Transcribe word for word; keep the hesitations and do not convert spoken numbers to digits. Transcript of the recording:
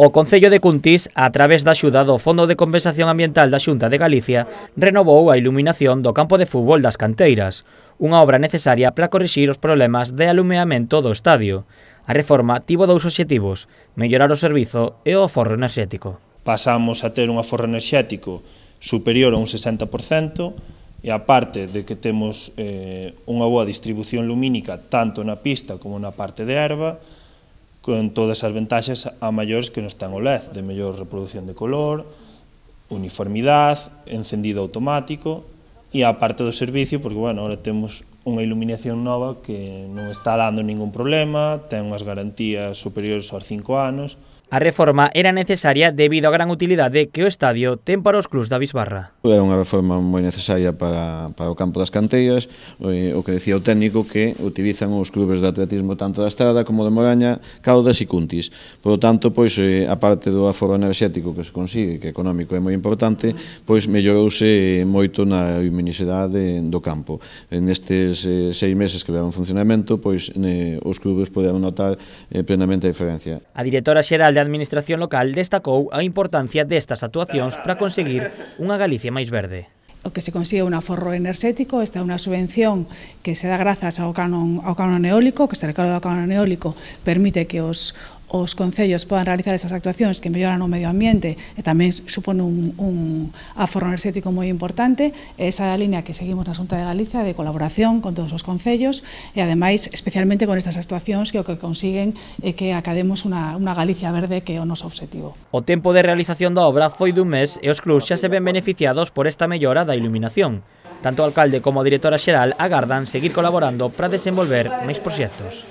O Concello de Cuntis, a través da axuda do Fondo de Compensación Ambiental da Xunta de Galicia, renovou a iluminación do campo de fútbol das Canteiras, unha obra necesaria para corrixir os problemas de alumeamento do estadio. A reforma tivo dous obxectivos: mellorar o servizo e o aforro enerxético. Pasamos a ter un aforro enerxético superior a un sesenta por cento e aparte de que temos eh, unha boa distribución lumínica tanto na pista como na parte de herba, con todas as ventaxas a maiores que nos ten o L E D, de mellor reproducción de color, uniformidade, encendido automático e a parte do servicio, porque, bueno, ahora temos unha iluminación nova que non está dando ningún problema, ten unhas garantías superiores aos cinco anos. A reforma era necesaria debido á gran utilidade que o estadio ten para os clubs da Bisbarra. É unha reforma moi necesaria para, para o campo das Canteiras, o que decía o técnico que utilizan os clubes de atletismo tanto da Estrada como de Moraña, Caldas e Cuntis. Por lo tanto, pois, a parte do aforro enerxético que se consigue, que económico é moi importante, pois mellorouse moito na luminosidade do campo. Nestes seis meses que levan funcionamento, pois os clubes poderon notar plenamente a diferencia. A directora xeral de Administración Local destacou a importancia destas actuacións para conseguir unha Galicia máis verde. O que se consigue un aforro enerxético, esta é unha subvención que se dá grazas ao canon, ao canon eólico, que se recauda ao canon eólico, permite que os os concellos podan realizar esas actuacións que melloran o medio ambiente e tamén supone un, un aforro enerxético moi importante. Esa é a línea que seguimos na Xunta de Galicia de colaboración con todos os concellos e, ademais, especialmente con estas actuacións que o que consiguen é que academos unha, unha Galicia verde, que é o noso obxectivo. O tempo de realización da obra foi dun mes e os clubs xa se ven beneficiados por esta mellora da iluminación. Tanto o alcalde como a directora xeral agardan seguir colaborando para desenvolver máis proxectos.